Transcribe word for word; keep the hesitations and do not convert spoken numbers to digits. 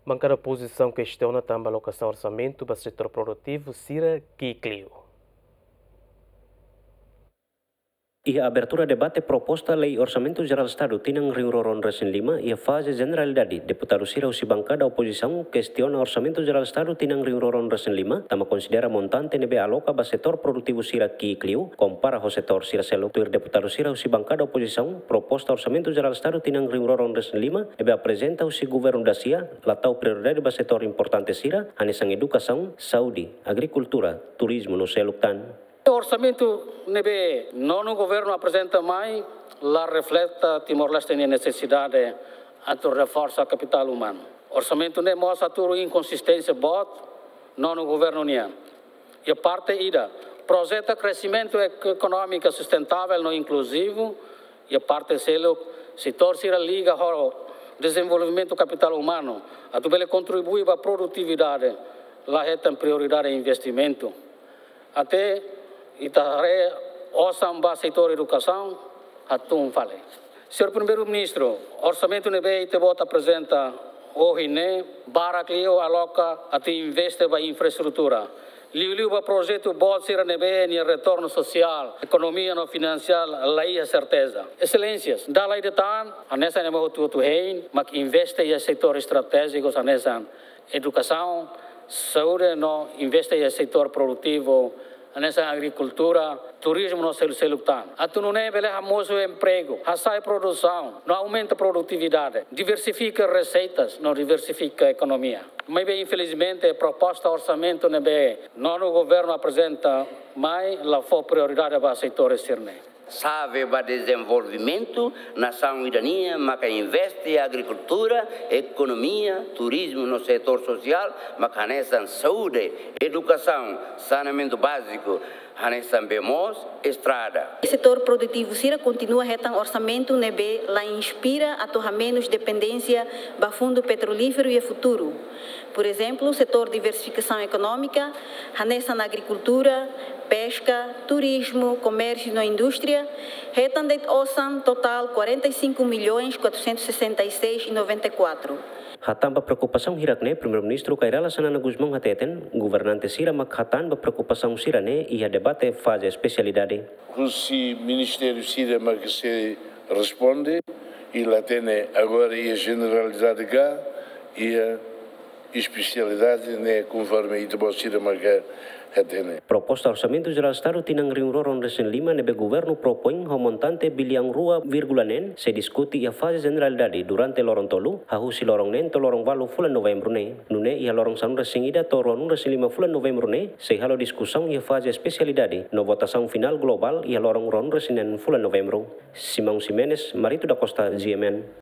Bankada opozisaun kestiona tanba alokasaun orsamentu ba setór produtivu sira ki'ik liu. Iha abertura debate proposta lei Orsamentu Jerál Estadu tinan rihun rua ruanulu-resin-lima iha faze jeneralidade, deputadu sira husi bankada opozisaun kestiona Orsamentu Jerál Estadu tinan rihun rua ruanulu-resin-lima, tanba konsidera montante ne'ebé aloka ba setór produtivu sira ki'ik liu, kompara ho setór sira seluk. Tuir deputadu sira husi bankada opozisaun, proposta Orsamentu Jerál Estadu tinan rihun rua ruanulu-resin-lima ne'ebé aprezenta husi governu dasia, la tau prioridade ba setór importante sira, hanesan edukasaun, saúde, agrikultura, turizmu no seluk tan. Orsamentu ne'ebé nonu governu aprezenta mai la refleta Timor-Leste nia nesesidade atu reforsa kapitál umanu. Orsamentu ne'e mós hatudu inkonsisténsia boot nonu governu nian. Iha parte ida, projeta kresimentu ek-, ekonómiku sustentável no inkluzivu, iha parte seluk, setór sira liga ho dezenvolvimentu kapitál umanu, atu bele kontribui ba produtividade, la hetan prioridade investimentu. Até ita haree osan ba setór edukasaun, hatún fali. Señór Primeiru-Ministru, orsamentu ne'ebé ita-boot aprezenta ohin ne'e, barak liu aloka atu investe ba infraestrutura. Liuliu ba projetu boot sira ne'ebé nia retornu sosiál, ekonomia no finansiál la iha serteza. Exelénsias, dala ida tan, hanesan ema hotu-hotu hein, mak investe iha setór estratéjiku hanesan edukasaun, saúde no investe iha setór produtivu, hanesan agrikultura, turizmu no selu-seluk tan. Atu nune'e bele hamosu empregu, hasa'e produsaun, no aumenta produtividade, diversifika reseitas, no diversifika ekonomia. Maibé, infelizmente, proposta orsamentu ne'ebé nonu governu aprezenta mai la fó prioridade ba setór sira-ne'e. Xave ba dezenvolvimentu nasaun ida nian maka investe agrikultura, ekonomia, turizmu no setór sosiál, maka hanesan saúde, edukasaun, saneamentu báziku, hanesan bee moos, estrada. Setór produtivu sira kontinua hetan orsamentu ne'ebé la inspira atu hamenus dependénsia ba fundu petrolíferu iha futuru. Por ezemplu, setór diversifikasaun ekonómika, hanesan agrikultura, peska, turizmu, komérsiu no indústria, hetan de'it osan totál quarenta e cinco milhões quatrocentos e sessenta e seis e noventa e quatro. Hatán ba preokupasaun hirak-ne'e, Primeiru-Ministru Kay Rala Xanana Gusmão hateten, governante sira mak hatán ba preokupasaun sira-ne'e iha debate faze espesialidade. Husi ministériu sira mak sei responde, i la hatene agora iha jeneralidade ka iha espesialidade ne'e, konforme ita-boot sira mak hatene. Proposta Orsamentu Jerál Estadu tinan rihun rua ruanulu-resin-lima ne'ebé governu propoin ho montante biliaun rua vírgula neen sei diskute iha faze jeneralidade durante loron tolu, hahú husi loron neen to'o loron ualu fulan Novembru ne'e. Nune'e iha loron sanulu-resin-ida to'o ruanulu-resin-lima fulan Novembru ne'e sei halo diskusaun iha faze espesialidade, no votasaun finál globál iha loron ruanulu-resin-neen fulan Novembru. Simão Ximenes, Marito da Costa, G M N.